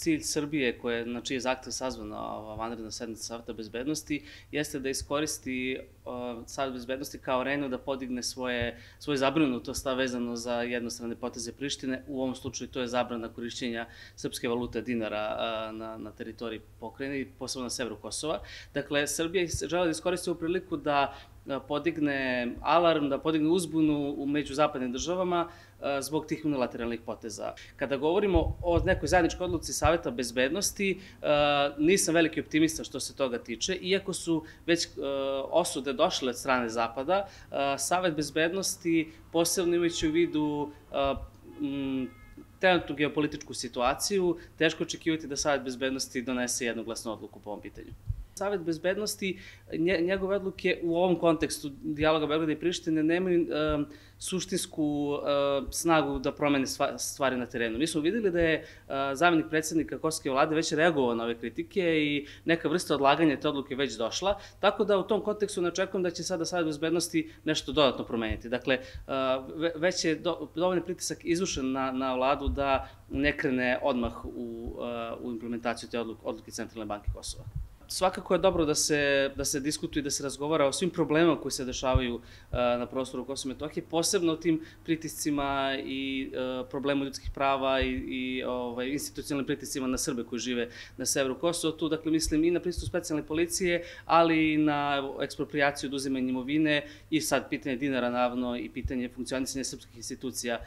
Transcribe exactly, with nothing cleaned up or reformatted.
cilj Srbije, koje, na čiji je zahtev sazvana ova vanredna sednica Saveta bezbednosti, jeste da iskoristi Savet bezbednosti kao arenu da podigne svoje, svoje zabrinutost vezano za jednostrane poteze Prištine. U ovom slučaju to je zabrana korišćenja srpske valute dinara na, na teritoriji pokrajine, posebno na severu Kosova. Dakle, Srbija žele da iskoristi ovu priliku da podigne alarm, da podigne uzbunu među zapadnim državama zbog tih unilateralnih poteza. Kada govorimo o nekoj zajedničkoj odluci Saveta bezbednosti, nisam veliki optimista što se toga tiče, iako su već osude došle od strane Zapada, Savet bezbednosti, posebno imajući u vidu trenutnu geopolitičku situaciju, teško očekivati da Savet bezbednosti donese jednoglasnu odluku po ovom pitanju. Savet bezbednosti, njegove odluke u ovom kontekstu dijaloga Beograda i Prištine nemaju suštinsku snagu da promene stvari na terenu. Mi smo videli da je zamenik predsjednika kosovske vlade već reagovao na ove kritike i neka vrsta odlaganja te odluke već došla, tako da u tom kontekstu ne očekujem da će sada Savet bezbednosti nešto dodatno promeniti. Dakle, već je dovoljni pritisak izvršen na, na vladu da ne krene odmah u, u implementaciju te odluke Centralne banke Kosova. Svakako je dobro da se, da se diskutuje i da se razgovara o svim problemima koji se dešavaju na prostoru Kosova i Metohije, posebno o tim pritiscima i problemu ljudskih prava i, i ovaj, institucionalnim pritiscima na Srbe koji žive na severu Kosova. Tu, dakle, mislim i na prisustvo specijalne policije, ali i na eksproprijaciju, oduzimanje imovine i sad pitanje dinara, naravno, i pitanje funkcionisanja srpskih institucija